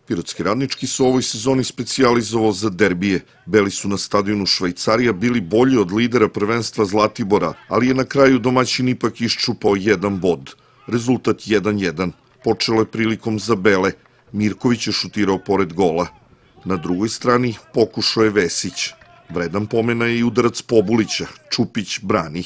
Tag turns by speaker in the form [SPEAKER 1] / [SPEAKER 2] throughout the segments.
[SPEAKER 1] Pirotski Radnički se u ovoj sezoni specijalizovao za derbije. Beli su na stadionu Švajcarija bili bolji od lidera prvenstva Zlatibora, ali je na kraju domaćin ipak iščupao jedan bod. Rezultat 1:1. Počelo je prilikom za Bele. Mirković je šutirao pored gola. Na drugoj strani pokušao je Vesić. Vredan pomena je i udarac Pobulića. Čupić brani.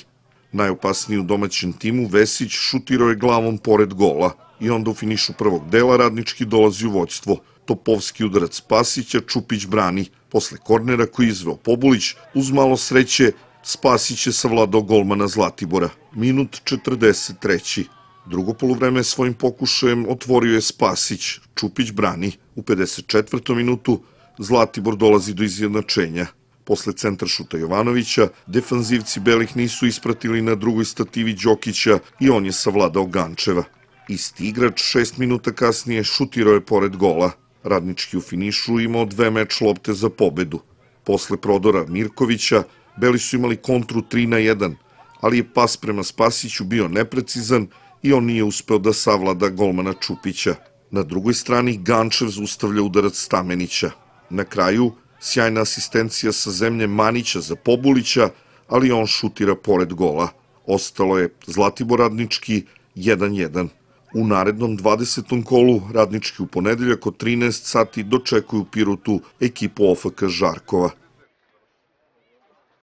[SPEAKER 1] Najopasniji u domaćem timu Vesić šutirao je glavom pored gola. I onda u finišu prvog dela Radnički dolazi u vođstvo. Topovski udarac Spasića, Čupić brani. Posle kornera koji je izveo Pobulić, uz malo sreće, Spasić je savladao golmana Zlatibora. Minut 43. Drugo poluvreme svojim pokušajem otvorio je Spasić. Čupić brani. U 54. minutu Zlatibor dolazi do izjednačenja. Posle centra šuta Jovanovića, defanzivci Belih nisu ispratili na drugoj stativi Đokića i on je savladao Gančeva. Isti igrač 6 minuta kasnije šutirao je pored gola. Radnički u finišu imao 2 meč lopte za pobedu. Posle prodora Mirkovića, Beli su imali kontru 3:1, ali je pas prema Spasiću bio neprecizan i on nije uspeo da savlada golmana Čupića. Na drugoj strani Gančev zaustavlja udarac Stamenića. Na kraju, sjajna asistencija sa zemlje Manića za Pobulića, ali on šutira pored gola. Ostalo je Zlatibor Radnički 1:1. U narednom 20. kolu Radnički u ponedeljak od 13 sati dočekuju u Pirotu ekipu OFK Žarkova.